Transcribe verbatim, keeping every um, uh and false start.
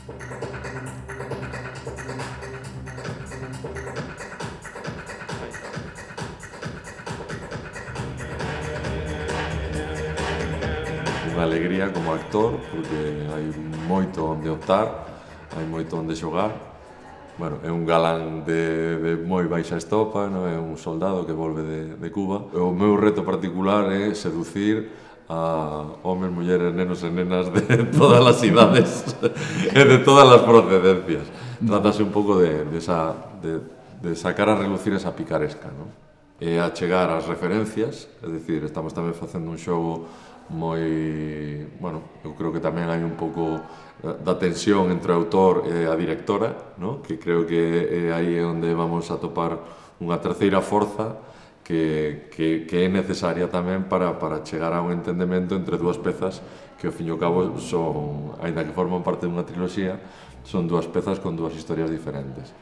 Unha alegría como actor, porque hai moito onde optar, hai moito onde xogar. Bueno, é un galán de, de moi baixa estopa, non é un soldado que volve de, de Cuba. O meu reto particular é seducir a homes, mulleres, nenos e nenas de todas as idades e de todas as procedencias. Trátase un pouco de, de, esa, de, de sacar a relucir esa picaresca, non? E a chegar ás referencias, é dicir, estamos tamén facendo un xogo moi, bueno, eu creo que tamén hai un pouco da tensión entre o autor e a directora, no? Que creo que é aí onde vamos a topar unha terceira forza que, que, que é necesaria tamén para, para chegar a un entendemento entre dúas pezas que ao fin e ao cabo son, aínda que forman parte dunha triloxía, son dúas pezas con dúas historias diferentes.